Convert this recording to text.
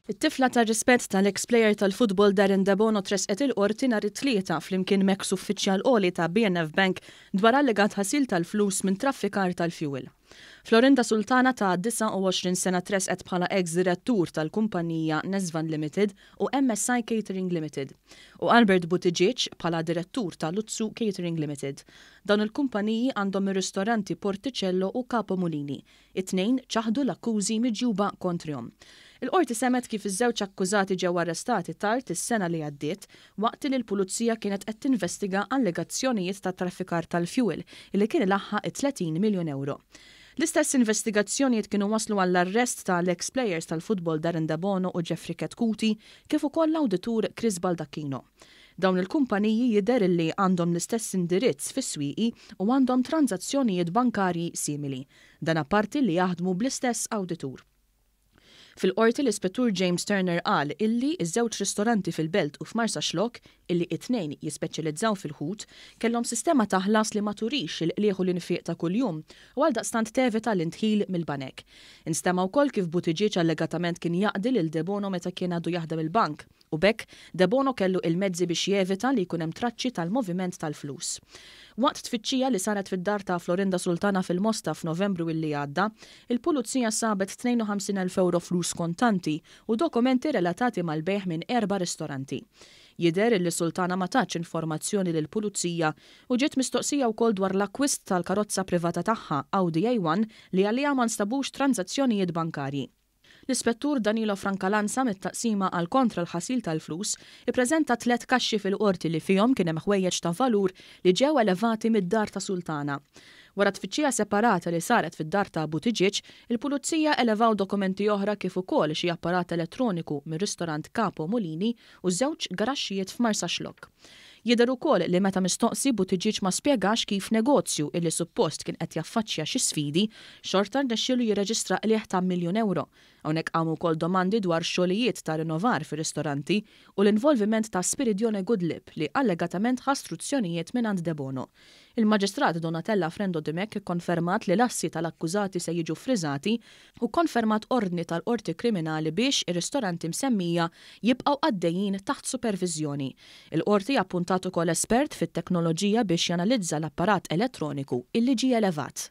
It-tifla tar-rispett tal-eks plejer tal-futbol Darren Debono tressqet il-Qorti nhar it-Tlieta flimkien m'eks uffiċjal għoli ta' BNF Bank dwar allegat ħasil tal-flus minn traffikar tal-fjuwil. Florinda Sultana ta' 29 sena tressqet bħala eks direttur tal-kumpanija Nesvan Limited u MSI Catering Limited u Albert Buttigieg bħala direttur ta' Luzzu Catering Limited. Dawn il-kumpaniji għandhom ir-ristoranti Porticello u Capo Mulini. It-tnejn ċaħdu l-akkużi miġjuba kontrihom. Il-Qorti semgħet kif iż-żewġ akkużati ġew arrestati tard is-sena li għaddiet waqt li l-Pulizija kienet qed tinvestiga allegazzjonijiet ta' traffikar tal-fjuwil li kien ilaħħaq it-30 miljun ewro. L-istess investigazzjonijiet kienu wasslu għall-arrest ta' l-eks plejers tal-futbol Darren Debono u Jeffrey Chetcuti kif ukoll l-awditur Chris Baldacchino. Dawn il-kumpaniji jidher illi għandhom l-istess indirizz fis-Swieqi u għandhom tranżazzjonijiet bankarji simili. Dan apparti li jaħdmu bl-istess awditur. Fil-Qorti l-Ispettur James Turner qal illi ż-żewġ ristoranti fil-Belt u f'Marsaxlokk, illi it-tnejn jispeċjalizzaw fil-ħut, kellhom sistema ta' ħlas li ma turix il-qligħ u l-infiq ta' kuljum u għaldaqstant tevita l-indħil mill-banek. Instema' wkoll kif Buttigieg allegatament kien jaqdi lil Debono meta kien għadu jaħdem il-bank. U b'hekk, Debono kellu il-mezzi biex jevita li jkun hemm traċċi tal-moviment tal-flus. Waqt tfittxija li saret fid-dar ta' Florinda Sultana fil-Mosta f'Novembru illi għadda, il-Pulizija sabet 52,000 ewro flus kontanti u dokumenti relatati mal-bejgħ minn erba' ristoranti. Jidher illi Sultana ma tatx informazzjoni lill-Pulizija u ġiet mistoqsija wkoll dwar l-akkwist tal-karozza privata tagħha, Audi A1, li għaliha ma nstabux tranżazzjonijiet bankarji. L-Ispettur Danilo Francalanza mit-Taqsima għal Kontra l-Ħasil tal-Flus ippreżenta tlett kaxxi fil-Qorti li fihom kien hemm ħwejjeġ ta' valur li ġew elevati mid-dar ta' Sultana. Wara tfittxija separata li saret fid-dar ta' Buttigieg, il-Pulizija elevaw dokumenti oħra kif ukoll xi apparat elettroniku mir-ristorant Capo Mulini u żewġ garaxxijiet f'Marsaxlokk. Jidher ukoll li meta mistoqsi Buttigieg ma spjegax kif negozju illi suppost kien qed jaffaċċja xi sfidi, xorta rnexxielu jirreġistra qligħ ta' miljun ewro. Hawnhekk qamu wkoll domandi dwar xogħlijiet ta' rinnovar fir-ristoranti u l-involviment ta' Spiridione Goodlip li allegatament ħa struzzjonijiet mingħand Debono. Il-Maġistrat Donatella Frendo Dimech ikkonfermat li l-assi tal-akkużati se jiġu ffriżati u kkonfermat ordni tal-Qorti Kriminali biex ir-ristoranti msemmija jibqgħu għaddejjin taħt superviżjoni. Il-Qorti appuntat ukoll espert fit-teknoloġija biex janalizza l-apparat elettroniku illi ġie elevat.